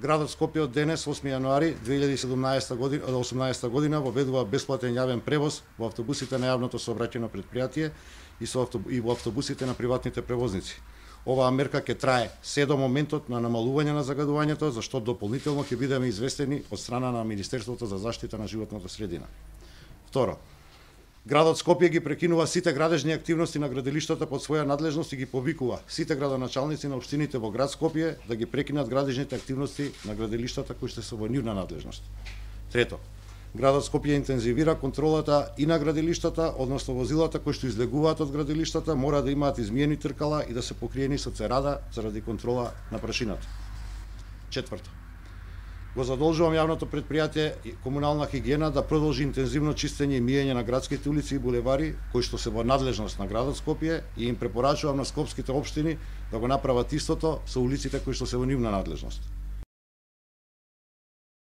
Градот Скопје од денес, 8 јануари 2018 година, воведува бесплатен јавен превоз во автобусите на јавното сообраќајно претпријатие и во автобусите на приватните превозници. Оваа мерка ќе трае се до моментот на намалување на загадувањето, за што дополнително ќе бидеме известени од страна на Министерството за заштита на животната средина. Второ, градот Скопје ги прекинува сите градежни активности на градилиштата под своја надлежност и ги повикува сите градоначалници на општините во град Скопје да ги прекинат градежните активности на градилиштата кои што се во нивна надлежност. Трето, градот Скопје интензивира контролата и на градилиштата, односно возилата кои што излегуваат од градилиштата мора да имаат измиени тркала и да се покриени со церада заради контрола на прашината. Четврто, го задолжувам јавното претпријатие и комунална хигиена да продолжи интензивно чистење и миење на градските улици и булевари кои што се во надлежност на градот Скопје и им препорачувам на скопските општини да го направат истото со улиците кои што се во нивна надлежност.